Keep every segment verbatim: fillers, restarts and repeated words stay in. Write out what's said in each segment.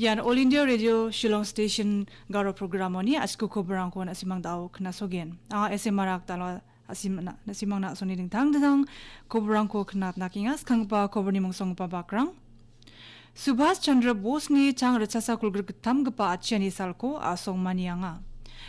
Ian All India Radio Shillong Station Garo programoni achku koborangko na·simang dao knasogen. Anga S M Marak dalo asim na, na·simangna asongni dingtang dingtang koborangko knatna kenga. Skanggipa koborni mongsonggipa bakrang. Subhas Chandra Bosni chang ritchasa kolgrik gittamgipa atchiani salko asong manianga.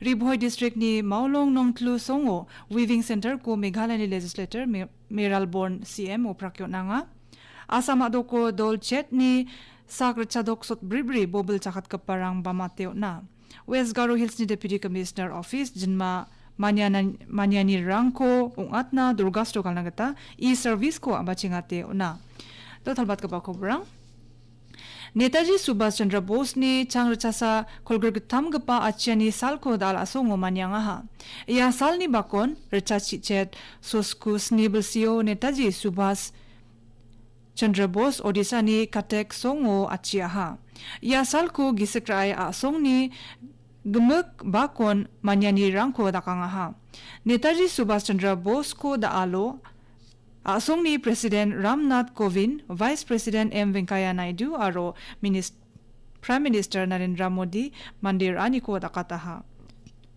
Ri Bhoi districtni Maulong Nongtlu songo Weaving Centerko Meghalayani legislator Me-, Mayralborn C M oprak on·anga. Assam a·doko dol chetni sak ritchadok sotbribri bobil chakatgiparang bamate on·a. West Garo Hillsni Deputy Commissioner Office jinma maniana-, manianirangko ong·atna dorgasto galna gita e-serviceko a·bachengate on·a. Dotalbatgipa koborang. Netaji Subhas Chandra Bosni chang ritchasa kolgrik gittamgipa atchiani salko dal·asongo maniangaha. Ia salni bakon ritchachichet sosku sni bilsio Netaji Subhas Chandra Bos Odisani Katek songo atchiaha. Ia salko gisik ra·e a·songni gimik bakon manianirangko dakangaha. Netaji Subhas Chandra Bosko da·alo a·songni President Ramnath Kovind, Vice President M Venkaiah Naidu aro Minis-, Prime Minister Narendra Modi manderaniko dakataha.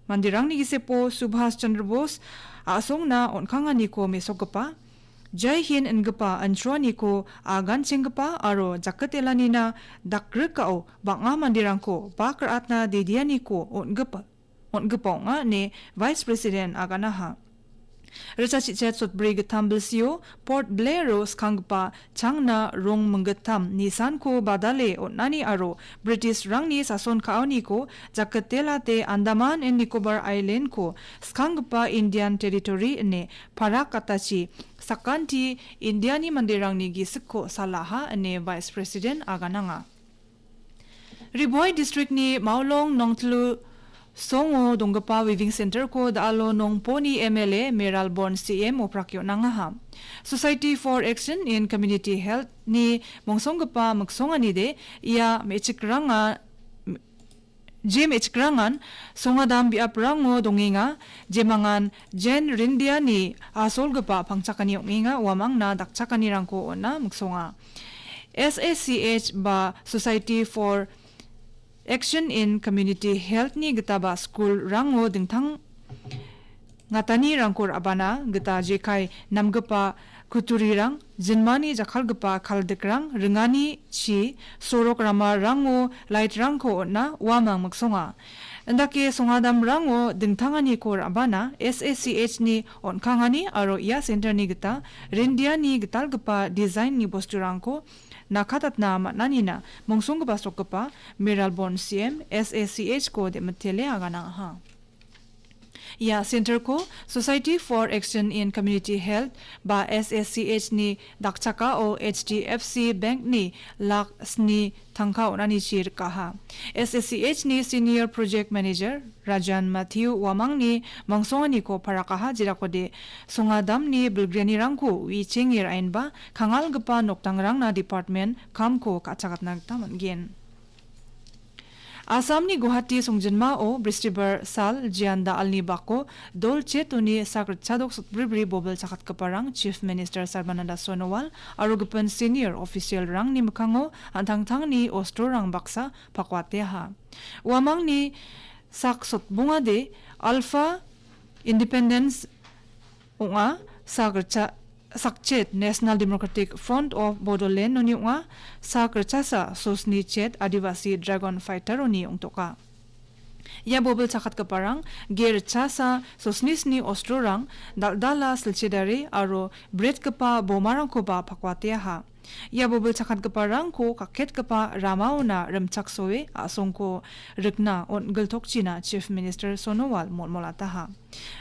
Manderangni gisepo Subhas Chandra Bos a·songna on·kanganiko mesokgipa, Jai Hind ingipa inchroaniko aganchenggipa aro jakatelanina dakrikao bang·a manderangko bak ra·atna dedianiko on·gipa, on·gipa ong·a ine Vice President aganaha. Ritchachichet sotbri gittam bilsio Port Blairo skanggipa changna rong minggittam nisanko badale on·ani aro Britishrangni sason ka·oniko jakatelate Andaman and Nicobar Islandko skanggipa Indian Territory ine parak gatachi sakanti Indiani manderangni gisikko salaha ine Vice President agananga. Ri Bhoi districtni Maulong Nongtlu songo donggipa Weaving Centerko da·alo Nongponi M L A Mayralborn C M oprak on·angaha. Society for Action in Community Health-ni mongsonggipa miksonganide ia me·chikranga, je me·chikrangan songadam biaprango dongenga, jemangan Jen Rindiani asolgipa pangchakani ong·enga, uamangna dakchakanirangko on·a miksonga. S A C H ba Society for Action in Community Health-ni gitaba skulrango dingtang ngatanirangko ra·bana gita jekai namgipa kutturirang, jinmani jakkalgipa kaldikrang, ringani chi, sorok ramarango light-rangko on·a uamang miksonga. Indake songadamrango dingtanganiko ra·bana S A C H-ni on·kangani aro ia center-ni gita Rindiani gitalgipa design-ni bosturangko nakatatna man·anina mongsonggipa sokgipa Mayralborn C M S A C H-ko de·mitele aganangaha. Ia center-ko Society for Action in Community Health ba S A C H-ni dakchakao H D F C Bank-ni lak sni tangka on·anichi rikaha. S A C H-ni Senior Project Manager Rajan Matthew uamangni mongsonganiko parakaha, jerakode songadamni bilgrianirangko uichenge ra·enba kangalgipa nokdangrangna department kamko ka·chakatna gita man·gen. Assamni Guwahati songjinmao Bristibar sal jian da·alni bako dol chetoni sak ritchadok sotbribri bobil chakatgiparang Chief Minister Sarbananda Sonowal aro gipin senior official-rangni mikkango an·tangtangni ostrorang baksa pakuateaha. Uamangni sak sotbongade Alpha Independence ong·a, sak ritcha-, sakchet National Democratic Front of Bodoland-oni ong·a, sak ritchasa sosni chet Adivasi Dragon Fighter-oni ong·toka. Ia bobil chakatgiparang ge ritchasa sosnisni ostrorang, dal·dala silchedare aro bretgipa bomarangkoba pakuateaha. Ia bobil chakatgiparangko kaketgipa ramaona rimchaksoe a·songko rikna on·giltokchina Chief Minister Sonowal molmolataha.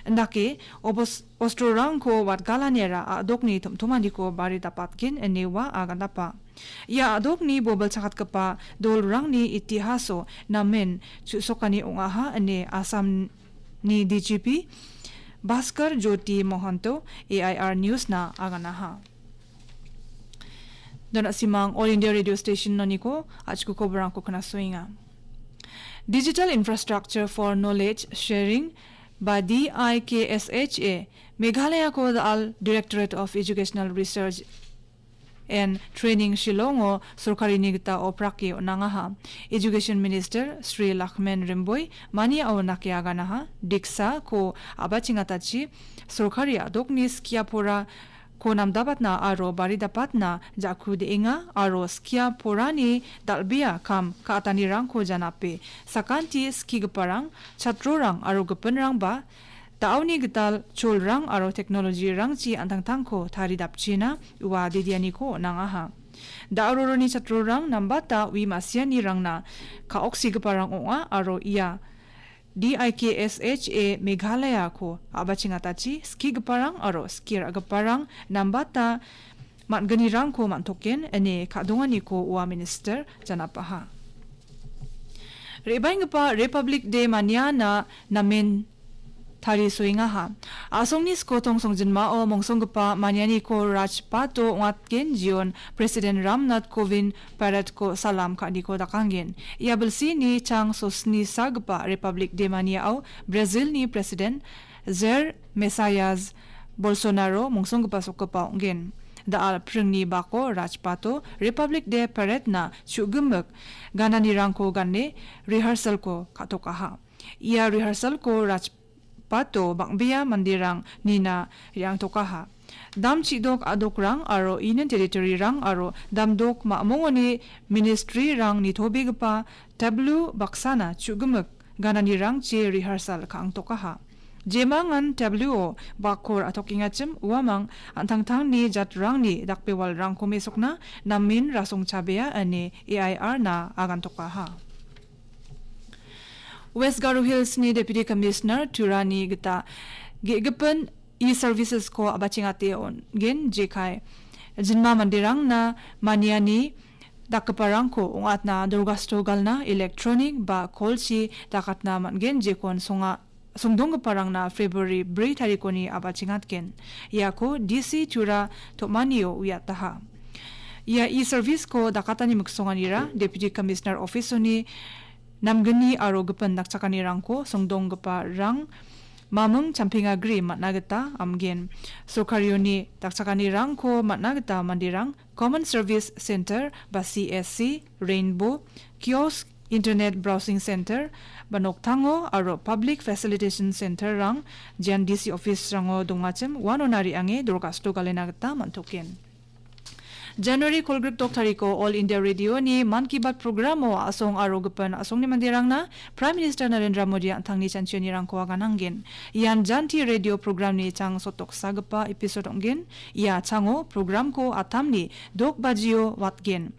Indake obos-, ostrorangko watgalaniara a·dokni tom·tomaniko bari dapatgen ine ua agandapa. Ia a·dokni bobil chakatgipa dolrangni itihaso namen chu·sokani ong·aha ine Assam ni D G P Bhaskar Jyoti Mohanto A I R News-na aganaha. Dona simang All India Radio Station-oniko achku koborangko knasoenga. Digital Infrastructure for Knowledge Sharing ba D I K S H A Meghalayako da·al Directorate of Educational Research and Training Shillongo sorkarini gita oprake on·angaha. Education Minister Shri Lakhmen Rymbui maniao nake aganaha, Diksako a·bachengatachi sorkari a·dokni skia pora ko namdapatna aro baridapatna ja·ku de·enga aro skia porani dal·bea kam ka·atanirangko janape sakanti skigiparang, chatrorang aro gipinrangba da·oni gital cholrang aro teknolojirangchi an·tangtangko taridapchina ua didianiko on·angaha. Da·roroni chatrorang nambata ui ma·sianirangna ka·oksigiparang ong·a aro ia D I K S H A Meghalayako a·bachengatachi skigiparang aro skie ra·giparang nambata man·gnirangko man·token ine ka·donganiko ua minister janapaha. Re·baenggipa Republic Day maniana namen tarisoengaha. A·songni skotong songjinmao mongsonggipa manianiko Rajpato ong·atgen jion President Ramnath Kovind paradko salam ka·aniko dakanggen. Ia bilsini chang sosni sagipa Republic Day maniao Brazilni President Jair Messias Bolsonaro mongsonggipa sokgipa ong·gen. Da·al pringni bako Rajpato Republic Day Parade-na chu·gimik gananirangko gane rehearsal-ko ka·tokaha. Ia rehearsal-ko Rajpato bang·bea manderang nina re·angtokaha. Dam chidok a·dokrang aro Union Territory-rang aro damdok ma·mongoni ministry-rang nitobegipa tableau baksana chu·gimik gananirangchi rehearsal ka·angtokaha. Jemangan tableau-o bakko ra·tokengachim uamang an·tangtangni jatrangni dakbewalrangko mesokna namen rasong chabea ine A I R-na agantokaha. West Garo Hills-ni Deputy Commissioner Turani gita ge·gipin e-services-ko a·bachengate on·gen jekai jinma manderangna maniani dakgiparangko ong·atna dorgasto galna electronic ba kolchi dakatna man·gen jekon songa songdonggiparangna February bri tarikoni a·bachengatgen. Iako D C Tura Tomanio uiataha. Ia e-service-ko dakatani miksonganira Deputy Commissioner Office-oni namgni aro gipin dakchakanirangko songdonggiparang maming champengagri man·a gita amgen. Sorkarioni dakchakanirangko man·a gita manderang Common Service Center ba C S C, Rainbow, Kiosk, Internet Browsing Center ba noktango aro Public Facilitation Center-rang G N D C office-rango dongachim uanona re·ange dorgasto galena gita man·token. January kolgrik dok tariko All India Radio-ni Mann Ki Baat programo a·song aro gipin a·songni manderangna Prime Minister Narendra Modi an·tangni chanchionirangko agananggen. Ian Janti Radio programni chang sotoksagipa episode ong·gen. Ia chango programko atamni dok bajio watgen.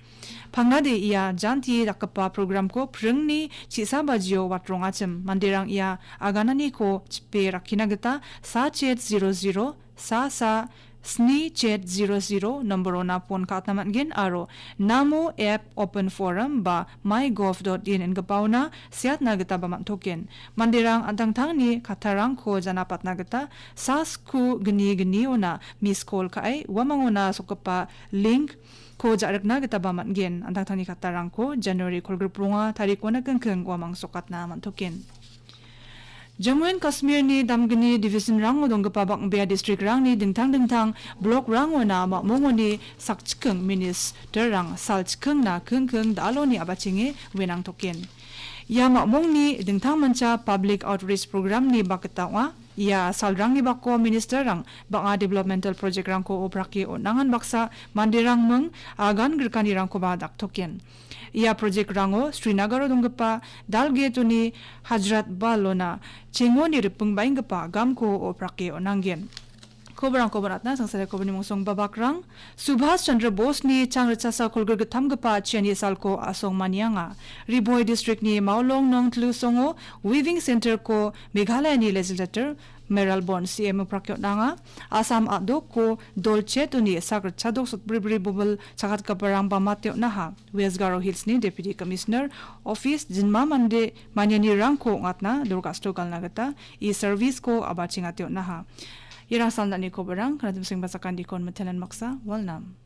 Pangnade ia Janti dakgipa programko pringni chisa bajio watrongachim manderang ia agananiko chipe rakkina gita sachet zero zero sa sa sni chet zero zero nomborona pon ka·atna man·gen aro Namo app, Open Forum ba mygov dot in ingipaona seatna gitaba man·token. Manderang an·tangtangni kattarangko janapatna gita sasku gni gniona miss call ka·e uamangona sokgipa link-ko ja·rikna gitaba man·gen. An·tangtangni kattarangko January kolgrikbronga tarikona kingking uamang sokatna man·token. Jammu and Kashmirni damgni division-rango donggipa bang·bea district-rangni dingtang dingtang block-rangona ma·mongoni sakchiking minister-rang salchikingna kingking da·aloni a·bachenge uenangtoken. Ia ma·mongni dingtangmancha public outreach program-ni bak gita ong·a. Ia salrangni bako minister-rang bang·a developmental project-rangko oprake on·angan baksa manderang ming agan grikanirangkoba daktoken. Ia project-rango Srinagaro donggipa Dal Gate-oni Hajrat Bal-ona chengoni ripingbaenggipa gamko oprake on·angen. Kobarangko bonatna sangsare kobani mongsong babakrang. Subhas Chandra Bose-ni chang ritchasa kolgrik gittamgipa chiani salko a·song manianga. Ri Bhoi district-ni Maolong Nongtlu songo Weaving Center-ko Meghalaya-ni legislator Mayralborn C M oprake on·anga. Assam a·dokko dolchet-oni sak ritchadok sotbribri bobil chakatgiparangba mate on·aha. West Garo Hills-ni Deputy Commissioner Office jinma mande manianirangko ong·atna dorgasto galna gita e-service-ko a·bachengate on·aha. Iarang salnani kobarang, kanatim sengba sakandikon mitenan maksa, walnam.